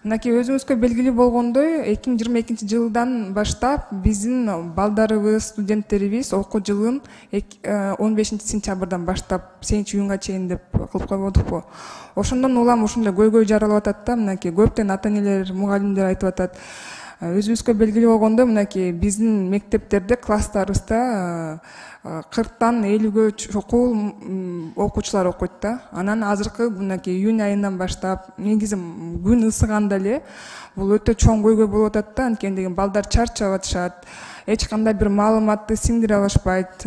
Мынакей өзүңүзгө белгилүү болгондой, 2022 жылдан баштап биздин балдарыбыз, студенттерибиз окуу жылын 15 сентябрдан баштап 8-июнга чейин деп кылып койбодукпу. Ошондон улам ушундай көйгөй жаралып атат да, мынакей көптөгөн ата-энелер, мугалимдер айтып атат. Өзүбүзгө белгилүү болгондой, мынакей биздин мектептерде, класстарыбызда 40-тан 50-гө чокул окуучулар окуйт да. Анан азыркы мынакей июнь айынан баштап, негизи күн ысыганда эле бул өтө чоң көйгөй болуп атат да, анткени деген балдар чарчап атышат, эч кандай бир маалыматты сиңдире алышпайт.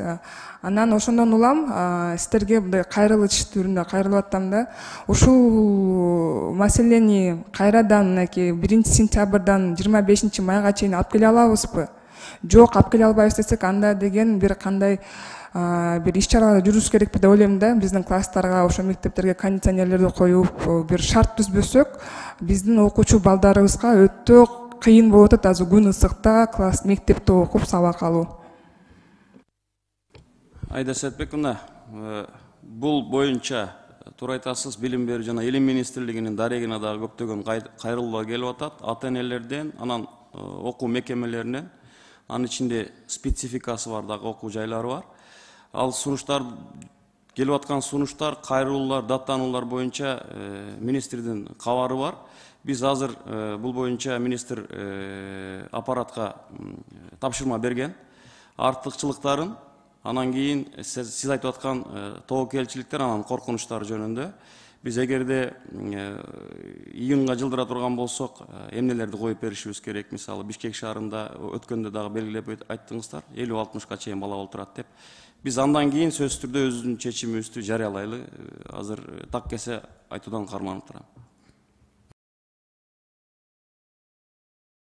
Анан ошондон улам сиздерге мындай кайрылыш түрүндө кайрылып атам да. Ушул маселени кайрадан мынакей 1-сентябрдан 25-майга чейин алып келе алабызбы? Жок, алып келе албайбыз десек, анда деген бир кандай бир иш-чаралар жүргүзүш керекпи деп ойлойм да. Биздин класстарга, ошо мектептерге кондиционерлерди коюп, бир шарт түзбөсөк, биздин окуучу балдарыбызга өтө кыйын болуп атат азыр күн ысыкта класс мектепте окуп сабак алуу. Айда Сәтбек мына, бул боюнча туура айтасыз, билим берүү жана илим министрлигинин дарегине дагы көптөгөн кайрылуулар келип атат ата-энелерден, анан окуу мекемелеринен. Анын ичинде спецификасы бар дагы окуу жайлары бар. Ал сунуштар келип аткан сунуштар, кайрылуулар, даттануулар боюнча министрдин кабары бар. Биз азыр бул боюнча министр аппаратка тапшырма берген. Артыкчылыктарын, анан кийин сиз айтып аткан тобокелчиликтер, анан коркунучтар жөнүндө биз эгерде июнга жылдыра турган болсок, эмнелерди коюп беришибиз керек? Мисалы, Бишкек шаарында өткөндө дагы белгилеп айттыңыздар, 50-60 чейин бала олтурат деп. Биз андан кийин сөзсүз түрдө өзүбүздүн чечимибизди жарыялайлы. Азыр так кесе айтуудан карманып турам.